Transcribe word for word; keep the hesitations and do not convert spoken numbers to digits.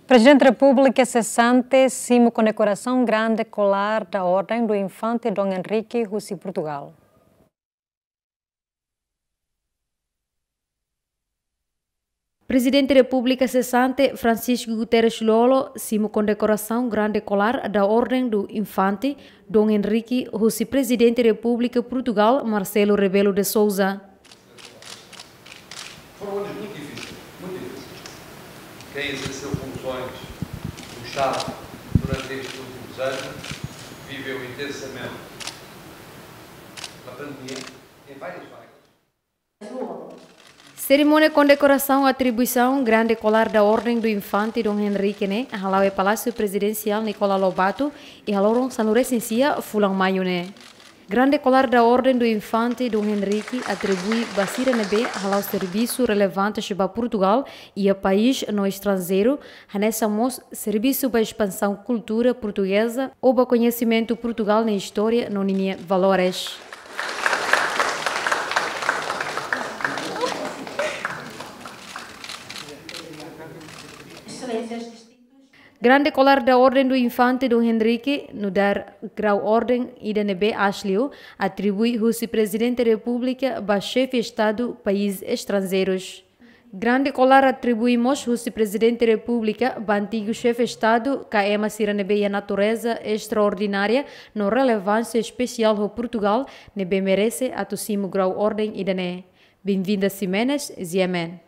Prezidente Repúblika sesante simu kondekorasaun Grande Kolar da Orden do Infante Dom Henrique husi Portugal. Prezidente Repúblika sesante Francisco Guterres Lú-Olo simu kondekorasaun Grande Kolar da Orden do Infante Dom Henrique husi Prezidente Repúblika Portugal Marcelo Rebelo de Sousa. Foram anos muito difíceis, muito difíceis. Quem exerceu funções no Estado durante estes últimos anos viveu intensamente a pandemia em várias áreas. Serimónia kondekorasaun atribuisaun Grande Kolar da Orden do Infante Dom Henrique ne'e hala'o iha Palásiu Prezidensiál Nicolau Lobato iha loron sanulu resin sia fulan Maiu ne'e. Grande Kolar da Orden do Infante Dom Henrique atribui ba sira ne'ebé hala'o servisu relevante ba Portugal iha país no estranjeiru, hanesan mós servisu ba espansaun kultura portugeza ou ba koñesimentu Portugal nia istória no ninia valores. Grande Kolar da Orden do Infante Dom Henrique nu'udar grau orden ida ne'ebé aas liu, atribui husi Prezidente Repúblika ba Xefe Estadu país estranjeirus. Grande Kolar atribui mós husi Prezidente Repúblika ba antigu Xefe Estadu ka ema sira ne'ebé iha natureza estraordinária no relevánsia espesiál ho Portugal, ne'ebé merese atu simu grau orden ida-ne'e. Benvinda Ximenes, G M N.